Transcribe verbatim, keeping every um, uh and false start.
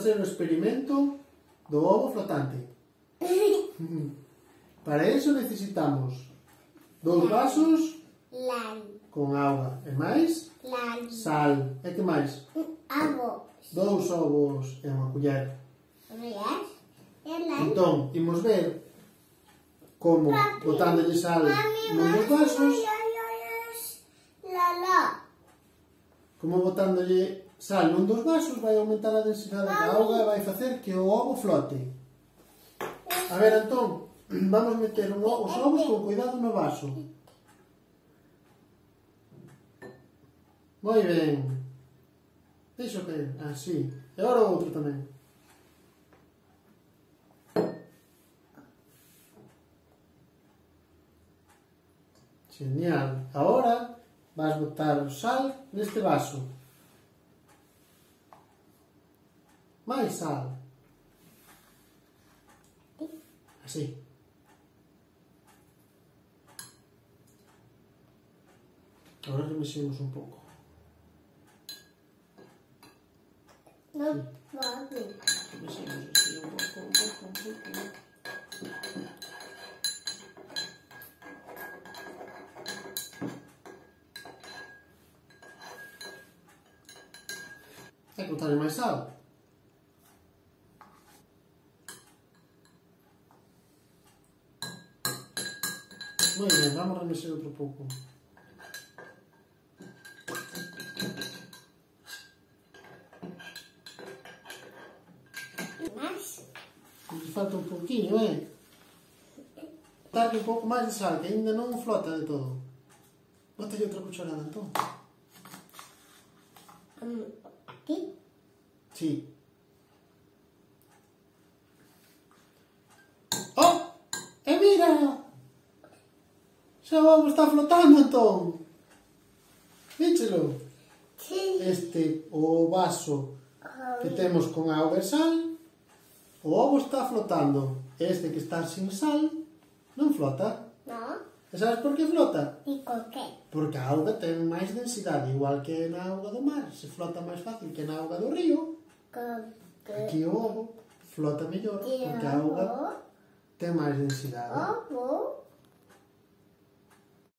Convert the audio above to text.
facer o experimento do ovo flotante. Para iso necesitamos dous vasos Lan. con auga e máis Lan. sal. E que máis? Avos. Dous ovos e unha culler. Rías. E lan. Entón, imos ver como botándolle sal nun dos vasos, La la. como botándolle sal nun dos vasos vai aumentar a densidade da auga e vai facer que o ovo flote. A ver, entón, vamos meter un ovo, os ovos con cuidado no vaso. Moi ben. Deixo que... así. E agora o outro tamén. Genial. Agora vas botar o sal neste vaso. Mais sal. Así. Agora remexemos un pouco. No pode. Remexemos así un pouco, un pouco, un pouco. Hai que botarle máis sal. Moi ben, vamos remexer outro pouco. Mas. Nos falta un pouquinho, eh? Botarle un pouco máis de sal, que ainda non flota de todo. Bótalle outra cucharada, entón. Um, aquí. Sí. Oh! E mira! Xa o ovo está flotando, entón. Víchelo? Sí. Este, o vaso que temos con auga e sal, o ovo está flotando. Este que está sin sal, non flota. No. E sabes por que flota? E con que? Porque a auga ten máis densidade, igual que na auga do mar. Se flota máis fácil que na auga do río. Con que? Aquí o ovo flota mellor, porque a auga ten máis densidade. Ovo.